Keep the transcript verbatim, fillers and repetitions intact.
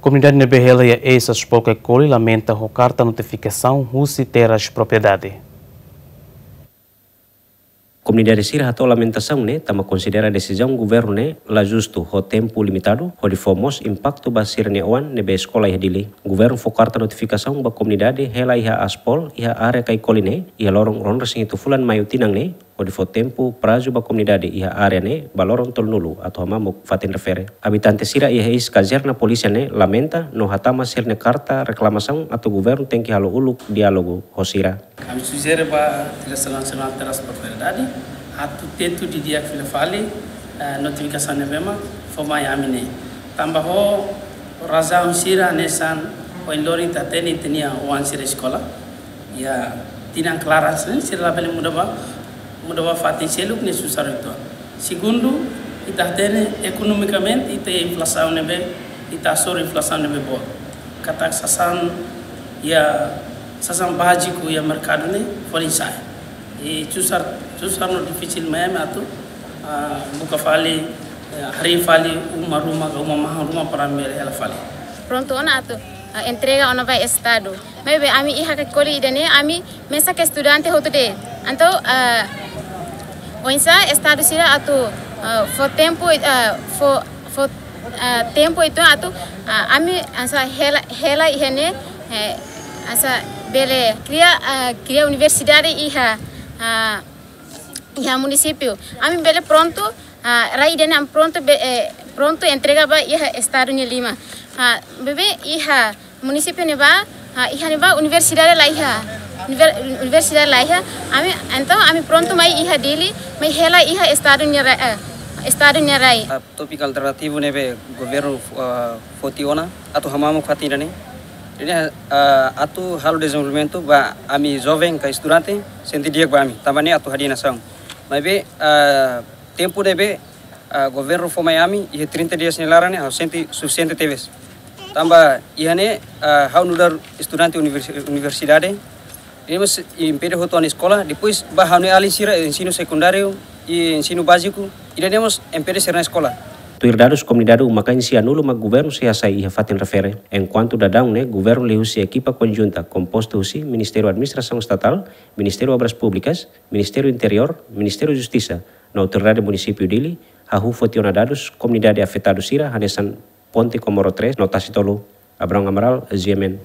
Komunidade ne'ebé hela iha eis Aspol Kaikoli lamenta ho karta notifikasaun husi Terras Propriedade. Komunidade sira hato'o lamentasaun ne'e tanba konsidera desizaun governu ne'e la justu ho tempu limitadu, hodi fó mós impaktu ba sira-nia oan ne'ebé eskola iha Dili. Governu fó karta notifikasaun ba komunidade hela iha Aspol iha área Kaikoli ne'e iha loron ruanulu-resin-hitu fulan Maiu tinan ne'e, hodi fó tempu prazu ba komunidade iha área ne'e ba loron tolunulu atu hamamuk fatin refere. Abitante sira iha eis kazerna polísia ne'e lamenta no hatama sira-nia karta reklamasaun atu governu tenke halo uluk diálogu ho sira. Ami sujere ba Diresaun Nasionál Terras Propriedade atu tentu didi'ak fila fali, eh, notifikasaun ne'ebé mak fó mai ami ne'e. Tanba ho razaun sira hanesan ohin loron ita hatene ita-nia oan sira eskola iha tinan klaran sira, sira labele muda ba, muda ba fatin seluk ne'e susar uitoan. Segundu, ita hatene ekonomikamente ita iha inflasaun ne'ebé, ita hasoru inflasaun ne'ebé boot. Katak sasán iha, sasán báziku iha merkadu ne'e folin sa'e. I susar, susar no difisil mai ami atu, ah, buka fali, eh, harii fali uma ruma ka uma mahon ruma para ami bele hela fali. Prontu ona atu, ah, entrega ona ba Estadu. Maibé ami iha Kaikoli ida-ne'e ami mesak estudante hotu de'it. Entaun, ah, oinsá Estadu sira atu, ah, fó tempu, ah, fó, fó, ah, tempu uitoan atu, ah, ami hanesan hela, hela iha ne'e, eh, hanesan bele kria, ah, kria universidade iha, ah, iha munisípiu. Ami bele prontu, ah, rai ida-ne'e ami prontu be-, eh, prontu entrega ba iha Estadu nia liman. Ah, maibé iha munisípiu ne'ebá, ah, iha ne'ebá universidade la iha. Univer-, universidade la iha. Ami, entaun ami prontu mai iha Dili, mai hela iha Estadu nia ra-, eh, Estadu nia rai. Ah, tópiku alternativu ne'ebé governu, ah, foti ona atu hamamuk fatin ida-ne'e. Ne'e, ah, atu halo dezenvolvimentu ba ami joven ka estudante, sente di'ak ba ami. Tanba ne'e atu hadi'a nasaun. Maibé, ah, tempu ne'ebé, ah, governu fó mai ami, iha trinta dias nia laran ne'e, ha'u sente sufisiente tebes. Tanba iha ne'e, ah, ha'u nu'udar estudante universi-, universidade, ne'e mós impede hotu ha'u-nia eskola, depois ba ha'u-nia alin sira, ensinu sekundáriu i ensinu báziku, ida-ne'e mós impede sira-nia eskola. Tuir dadus komunidade uma-kain sianulu mak governu sei hasai iha fatin refere. Enkuantu daudaun ne'e, governu liuhusi ekipa konjunta kompostu husi Ministériu Administrasaun Estatál, Ministériu Obras Públikas, Ministériu Interiór, Ministériu Justisa, no Autoridade Munisípiu Dili, hahú foti ona dadus komunidade afetadu sira hanesan Ponte Comoro três no Tasi Tolu. Abrão Amaral, G M N.